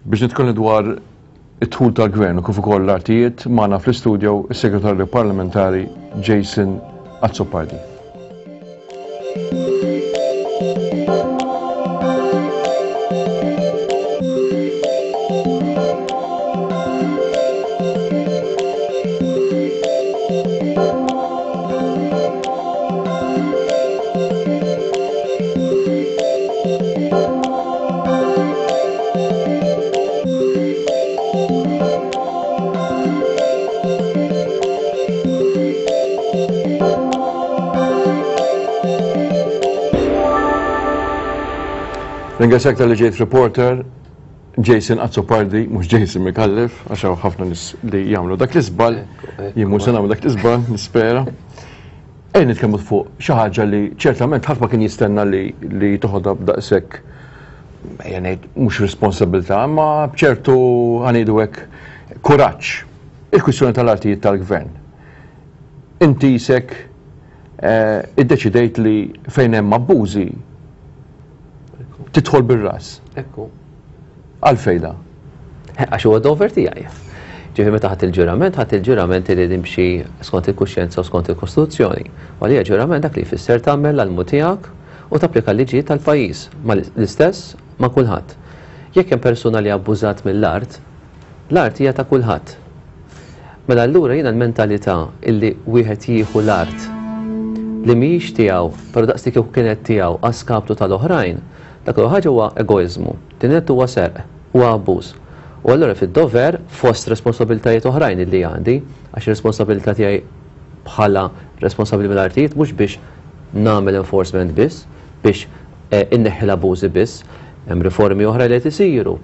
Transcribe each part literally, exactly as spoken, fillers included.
Biex nitkellmu dwar id-dħul tal-gvern u kif ukoll l-artijiet, magħna fl-istudio is-Segretarju Parlamentari Jason Azzopardi. Ringrazzjak talli ġejt reporter Jason Azzopardi, mhux Jason Micallef, għax hawn ħafna nies li jagħmlu dak l-iżball, jien mhux se nagħmlu dak l-iżball, nispera. Ejja nitkellmu fuq xi ħaġa li ċertament ħadd ma kien jistenna li li toħodha b'daqshekk, ejja ngħid mhux responsabilità, ma b'ċertu ħanidu hekk kuraġġ. Il-kwistjoni tal-artijiet tal-gvern. Inti isek eh, iddeċidejt li fejn hemm abbużi tidħol bir-ras. Ekku. Għalfejn da? Għax huwa dover tiegħi. Ġifieri meta ħadd il-ġurament, ħadd il-ġurament li nimxi skont il-kuxjenza u skont il-Kostituzzjoni. U għalija ġurament dak li jfisser tagħmel l-almu tiegħek u tapplika l-liġijiet tal-pajjiż, ma l-istess ma' kulħadd. Jekk hemm persuna li abbużat mill-art, l-art hija ta' kulħadd. Mela allura jiena l-mentalità illi wieħed jieħu l-art li mhijiex tiegħu, però daqs li kieku kienet tiegħu għaskaptu tal-oħrajn, dak l ħaġa huwa egoiżmu, tinet huwa serq, huwa abbuż. U allura fid-dover fost responsabilitajiet oħrajn illi għandi, għax ir-responsabilità tiegħi bħala responsabbli mill-artijiet mhux biex nagħmel enforcement biss, biex eh, inneħħi l-abbużi biss, hemm riformi oħra li qed isiru,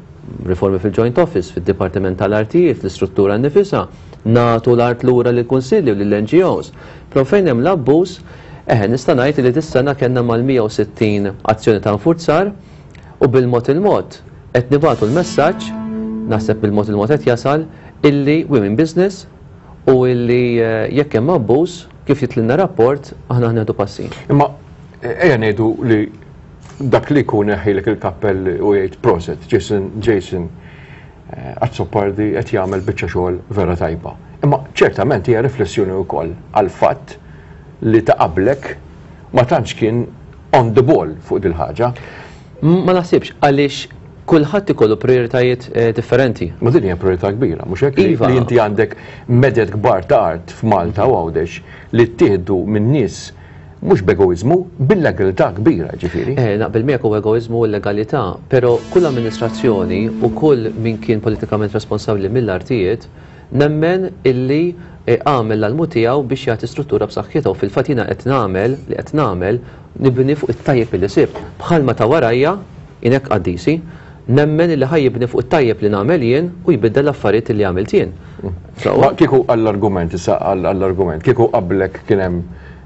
riformi fil-Joint Office, fid-Dipartiment tal-Artijiet, l-istruttura nnifisha, nagħtu l-art lura lill-Kunsilli u lill-N G Os. Però fejn hemm l-abbuż, eħe, nista' ngħid li dis-sena kellna mal-mija u sittin azzjoni ta' nfurzar u bil-mod il-mod qed nibagħtu l-messaġġ, naħseb bil-mod il-mod qed jasal, illi women business u illi, eh, jekk hemm abbuż, kif jitlilna rapport, aħna ħnieħdu passi. Imma ejja ngħidu li dak li jkun iħejlek il-kappell u jgħid proset, Jason, Jason, eh, Azzopardi qed jagħmel biċċa xogħol vera tajba. Imma ċertament hija riflessjoni wkoll għall-fatt li ta' qablek ma tantx kien on the ball fuq dil-ħaġa. Ma naħsibx, għaliex kulħadd ikollu prioritajiet, eh, differenti. Ma din hija priorità kbira, mhux hekk li Iva. li inti għandek meded kbar ta' art f'Malta u Għawdex li ttieħdu minn nies mhux b'egoiżmu, bil-legalità kbira, ġifieri. Eh, naqbel miegħek u egoiżmu u legalità, però kull amministrazzjoni u kull min kien politikament responsabbli mill-artijiet nemmen illi, eh, għamel l-almu tiegħu biex jagħti struttura b'saħħitha u fil-fatt jiena qed nagħmel li qed nagħmel nibni fuq it-tajjeb li sib. Bħalma ta' warajja inek qaddisi, nemmen illi ħaj jibni fuq it-tajjeb li nagħmel jien u jbiddel l-affarijiet li għamilt jien. Mm. So, Ma kieku għall-argument, issa għall-argument, kieku qablek kien hemm,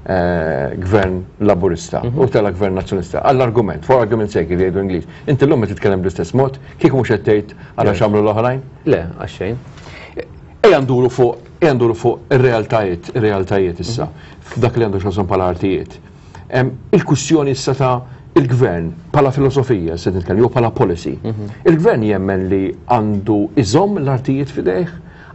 eh, gvern laburista Mhm. u tela gvern nazzjonalista. Għall-argument, for argument's sake, li jgħidu Ingliż. Inti llum qed titkellem bl-istess mod, kieku mhux qed tgħid għala Le. x'għamlu l-oħrajn? Le, għax xejn. Ejja nduru fuq, ejja nduru fuq ir-realtajiet, ir-realtajiet issa, Mhm. f'dak li għandu x'għażhom bħala artijiet. Em, il-kwistjoni issa ta' il-gvern bħala filosofija, se nitkellem, jew bħala policy. Mhm. Il-gvern jemmen li għandu iżomm l-artijiet f'idejh,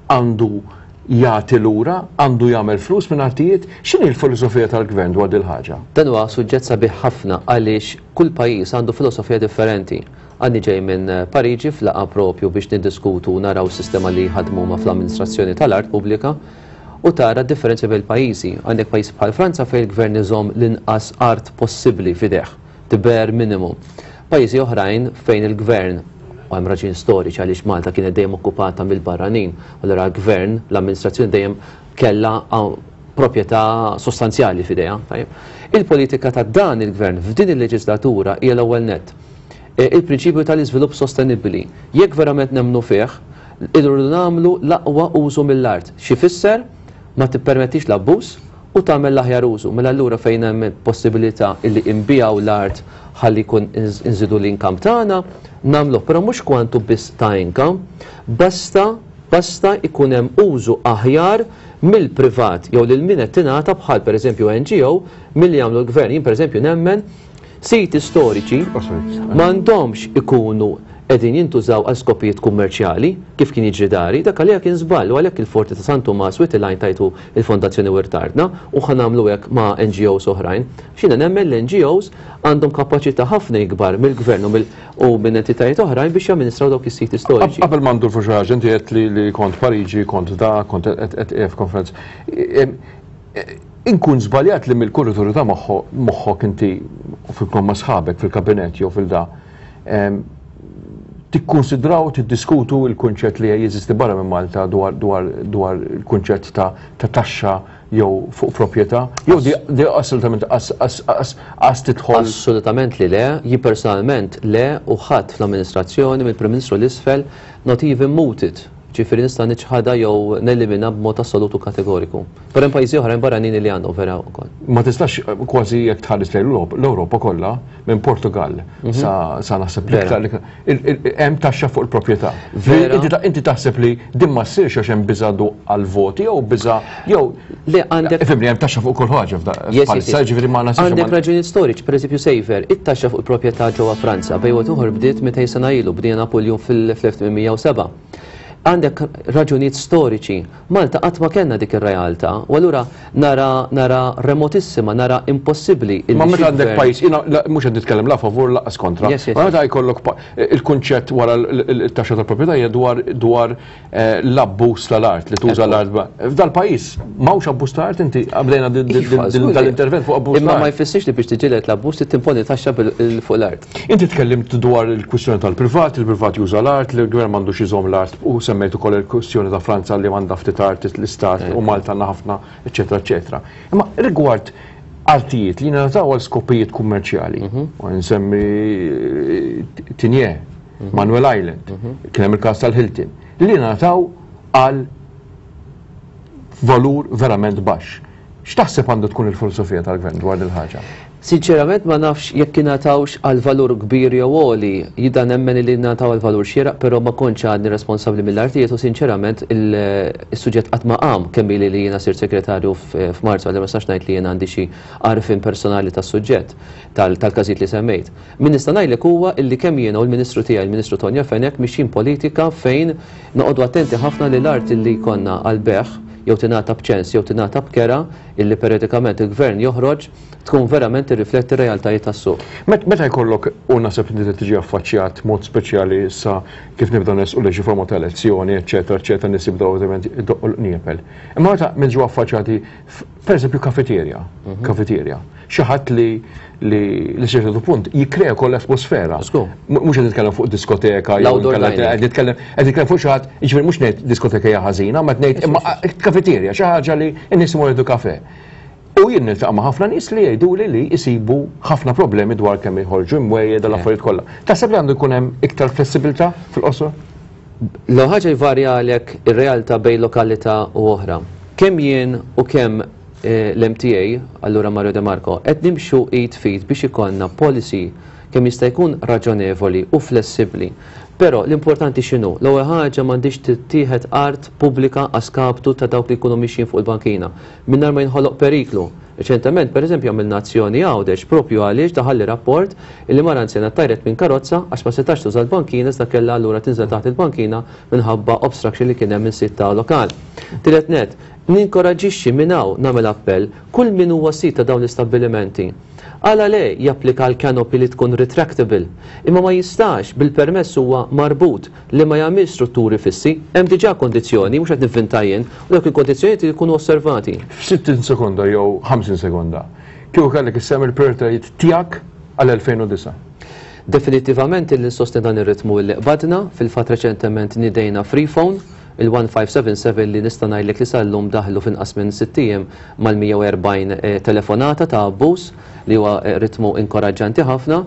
għandu jagħti lura, għandu jagħmel flus minn artijiet. X'inhi l-filosofija tal-gvern dwar dil ħaġa? Dan huwa suġġett sabiħ ħafna għaliex kull pajjiż għandu filosofija differenti. Għandi ġej minn Pariġi f'laqgħa propju biex niddiskutu u naraw s-sistema li ħadmu ma fl-amministrazzjoni tal-art pubblika u tara differenzi bejn pajjiżi. Għandek pajjiż bħal Franza fejn il-gvern iżomm l-inqas art possibbli f'idejh, the bare minimum. Pajjiżi oħrajn fejn il-gvern, u hemm raġuni storiċi għaliex Malta kienet dejjem okkupata mill-barranin, u allura l-gvern, l-amministrazzjoni dejjem kellha proprjetà sostanzjali f'idejha. Tajjeb. Il-politika ta' dan il-gvern f'din il-leġislatura hija l-ewwel nett. E, il-prinċipju tal-iżvilupp sostenibbli. Jekk verament nemmnu fih, irridu nagħmlu l-aqwa użu mill-art. Xi fisser? Ma tippermettix l-abbuż u tagħmel l-aħjar użu. Mela allura fejn hemm possibilità illi nbijaw l-art ħalli jkun inż-, inżidu l-income tagħna, nagħmluh, però mhux kwantu biss ta' income, basta, basta ikun hemm użu aħjar mill-privat jew lil min qed tingħata bħal pereżempju N G O milli jagħmlu l-gvern. Jien pereżempju nemmen Siti storiċi m'għandhomx ikunu qegħdin jintużaw għal skopijiet kummerċjali kif kien jiġri dari, dak għalija kien żball u għalhekk il-Forti ta' San Tumas Wied il-Għajn tajtu il-Fondazzjoni Wirt Artna u ħa nagħmlu hekk ma' N G Os oħrajn. X'jiena nemmen l-N G Os għandhom kapaċità ħafna ikbar mill-gvern u mill-, u minn entitajiet oħrajn biex jamministraw dawk is-siti storiċi. Qabel ma ndur fuq xi ħaġa, inti qed li, li kont Pariġi, kont da, kont qed, qed f'konferenza. Inkun żbaljat li mill-kurituri ta' moħħo-, moħħok inti fil-kom ma' sħabek fil-kabinett jew fil-da, em, tikkonsidraw, tiddiskutu il-kunċett li jeżisti barra minn Malta dwar, dwar, dwar il-kunċett ta', ta' taxxa jew fuq proprjetà, jew di, di assolutament as, as, as, as tidħol? Assolutament li le, jien personalment le, u ħadd fl-amministrazzjoni mill-Prim Ministru l-isfel not even mooted. Ġifieri nista' niċħadha jew nelimina b'mod assolutu kategoriku. Però hemm pajjiżi oħrajn barranin li għandhom vera wkoll. Ma tistax kważi jekk tħares lejn l-Ewropa, l-Ewropa kollha minn Portugal Mhm. sa, sa naħseb Vera. l-iktar, l-iktar, il-, il-, hemm taxxa fuq il-proprjetà. Vera. Inti ta-, inti taħseb li din ma ssirx għax hemm biża' du għal-voti jew biża' jew Le, għandek Ifhimni, hemm taxxa fuq kull ħaġa f'da- Yes, yes, bħalissa, yes. ġifieri ma naħsibx Għandek ma- raġunijiet storiċi, pereżempju Saver, it-taxxa fuq il-proprjetà ġewwa Franza bejn wieħed ieħor bdiet mitejn sena ilu, bdiet Napoleon fil-elf tmien mija u seba'. Għandek raġunijiet storiċi. Malta qatt ma kellna dik ir-realtà, u allura nara, nara remotissima, nara impossibbli illi Ma meta xi għandek gvern pajjiż, jiena la, mhux qed nitkellem la favur laqas kontra. Yes, yes, Ma meta yes. jkollok pa-, il-kunċett wara l-, l-, it-taxxa tal-proprjetà hija dwar, dwar, eh, l-abbuż tal-art li tuża Ekku. l-art ba-, F'dal-pajjiż m'hawnx abbuż tal-art, inti bdejna din, din, Iva, din, żgur. dal-intervent fuq abbuż Imma ma tal-art. jfissirx li biex tiġieled l-abbuż trid timponi taxxa bil-, il-, fuq l-art. Inti tkellimt dwar il-kwistjoni tal-privat, il-privat juża l-art, li l-gvern m'għandux iżomm l-art, u semmejt ukoll il-kwistjoni ta' Franza li m'għandha ftit art l-istat u Malta għandna ħafna, eċetera, eċetera. Imma rigward artijiet li ngħataw għal skopijiet kummerċjali, Mhm. u nsemmi Tigné, Mhm. Manuel Island, Mhm. kien hemm il-każ tal-Hilton, li ngħataw għal valur verament baxx. X'taħseb għandu tkun il-filosofija tal-gvern dwar din il-ħaġa? Sinċerament ma nafx jekk ingħatawx għal valur kbir jew għoli, jida nemmen li ngħataw għal valur xieraq, però ma kontx għadni responsabbli mill-artijiet u sinċerament il-, is-suġġett qatt ma qam kemm ili li jiena sirt segretarju f-, f'Marzu, għalli ma nistax ngħid li jiena għandi xi għarfien personali tas-suġġett tal-, tal-każijiet li semmejt. Min nista' ngħidlek huwa illi kemm jiena u l-Ministru tiegħi, il-Ministru Tonio Fenech, mixjin politika fejn noqogħdu attenti ħafna li l-art li jkollna għal beħ jew tingħata b'ċens jew tingħata b'kera illi periodikament il-gvern joħroġ tkun verament tirrifletti r-realtajiet tas-suq. Met-, meta jkollok u naħseb inti tiġi affaċċjat mod speċjali issa kif nibdew nesqu li xi forma ta' elezzjoni, eċetera, eċetera, nies jibdew ovvjament idoqqu l-qniepel. Imma meta niġu affaċċjati f-, pereżempju kafeterja, Mhm. kafeterja, xi ħadd li, li, li xi ċertu punt jikkrea koll atmosfera. Żgur. M-, mhux qed nitkellem fuq diskoteka jew L-outdoor inkella dining. qed nitkellem, qed nitkellem fuq xi ħadd, jiġifieri mhux ngħid diskoteka hija ħażina, ma qed ngħid imma kafeterja, xi ħaġa li n-nies imorru jieħdu kafe. U jien niltaqa' ma' ħafna nies li jgħiduli li jsibu ħafna problemi dwar kemm jħorġu imwejjed dal affarijiet kollha. Taħseb li għandu jkun hemm iktar flessibilità fil-qosor? L-ewwel ħaġa jvarja għalhekk ir-realtà bejn lokalità u oħra. Kemm jien u kemm, eh, l-M T A, allura Mario De Marco, qed nimxu id f'id biex ikollna policy kemm jista' jkun raġonevoli u flessibbli. Però l-importanti x'inhu? L-ewwel ħaġa m'għandix tittieħed art pubblika għaskaptu ta' dawk li jkunu mixjin fuq il-bankina mingħajr ma jinħoloq periklu. Reċentement, pereżempju, għamilna azzjoni Għawdex propju għaliex daħalli rapport illi mara anzjana tajret minn karozza għax ma setax tuża l-bankina iżda kellha allura tinżel taħt il-bankina minħabba obstruction li kien hemm minn sitta lokal. Tielet net, ninkoraġixxi minn hawn nagħmel appell kull min huwa sit ta' dawn l-istabbilimenti. Għala le japplika l-canopy li tkun retractable, imma ma jistax bil-permess huwa marbut li ma jagħmilx strutturi fissi, hemm diġà kondizzjoni, mhux qed nivvinta jien, u dawk il-kondizzjonijiet li jkunu osservati. F'sittin sekonda jew ħamsin sekonda, kieku kellek issemmi l-prioritajiet tiegħek għal elfejn u disa'? Definitivament li nsostni dan ir-ritmu li qbadna, fil-fatt reċentement nidejna free phone, il-one five seven seven li nista' ngħidlek li sal-lum daħlu f'inqas minn sitt ijiem mal-mija u erbgħin, eh, telefonata ta' abbuż li huwa, eh, ritmu inkoraġġanti ħafna.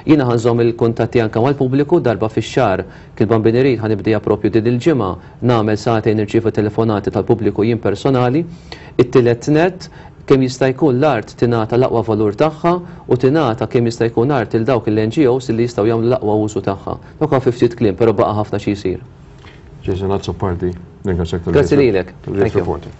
Jiena ħanżomm il-kuntatti anke mal-pubbliku darba fix-xahar kif Bambin irid ħanibdija propju din il-ġimgħa nagħmel sagħtejn nirċievu telefonati tal-pubbliku jien personali. It-tielet net kemm jista' jkun l-art tingħata l-aqwa valur tagħha u tingħata kemm jista' jkun art il dawk il-N G Os li jistgħu jagħmlu l-aqwa użu tagħha. Dawk fi ftit kliem, però baqa' ħafna xi jsir. Jason Azzopardi, ringrazzjak tal-ġie Grazzi lilek. tal-ġie Thank you. Reporter.